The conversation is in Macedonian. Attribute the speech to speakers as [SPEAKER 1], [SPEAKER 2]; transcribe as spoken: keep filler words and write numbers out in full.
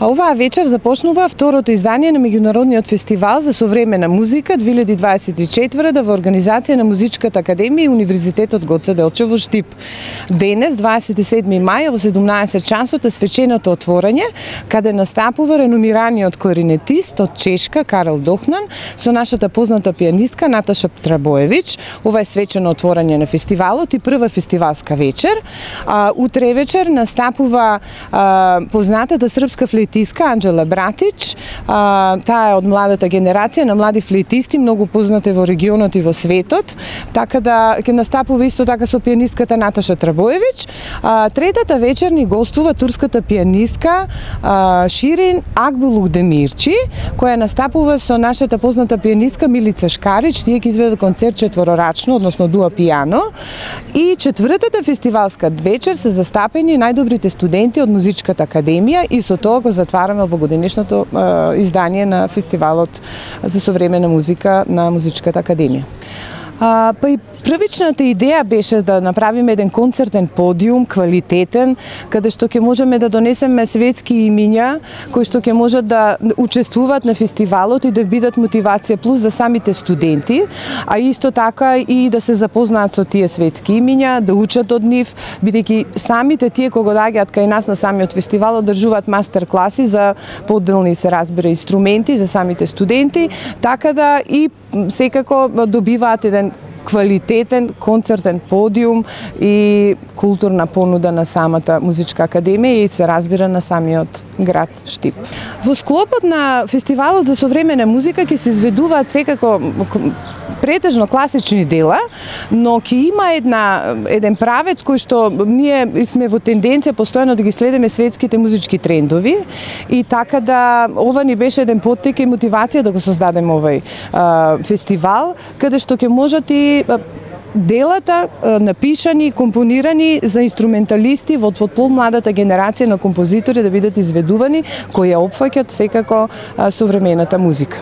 [SPEAKER 1] А оваа вечер започнува второто издание на меѓународниот фестивал за современа музика две илјади дваесет и четврта во организација на Музичката академија и Универзитетот Гоце Делчев во Штип. Денес, дваесет и седми мај, во седумнаесет часот е свеченото отворање, каде настапува реномираниот кларинетист од Чешка Карел Дохнан со нашата позната пианистка Наташа Трабоевич. Ова е свечено отворање на фестивалот и прва фестивалска вечер. А, утре вечер настапува а, познатата српска флейтистка Анџела Братич. А, таа е од младата генерација на млади флейтисти, многу позната во регионот и во светот. Така да ќе настапува исто така со пианистката Наташа Трабоевич. А, третата вечер ни гостува турската пианистка а, Ширин Акбулухдемирчи, која настапува со нашата позната пианистка Милица Шкарич. Тие ќе изведат концерт четворорачно, односно дуа пијано. И четвртата фестивалска вечер се застапени најдобрите студенти од Музичката академија и со тоа го затвараме во годинешното е, издание на фестивалот за современа музика на Музичката академија. А, па и првичната идеја беше да направиме еден концертен подиум, квалитетен, каде што ќе можеме да донесеме светски имиња, кои што ќе можат да учествуваат на фестивалот и да бидат мотивација плюс за самите студенти, а исто така и да се запознаат со тие светски имиња, да учат од нив, бидејќи самите тие кога доаѓаат кај нас на самиот фестивал одржуваат мастер класи за поделни, се разбира, инструменти за самите студенти, така да и секако добиваат еден квалитетен концертен подиум и културна понуда на самата Музичка академија и се разбира на самиот град Штип. Во склопот на фестивалот за современа музика ќе се изведуваат секако претежно класични дела, но ќе има една еден правец кој што ние сме во тенденција постојано да ги следиме светските музички трендови и така да ова ни беше еден поттик и мотивација да го создадеме овој а, фестивал, каде што ќе можат и делата напишани, компонирани за инструменталисти во помладата генерација на композитори да бидат изведувани, кои ја опфаќаат секако современата музика.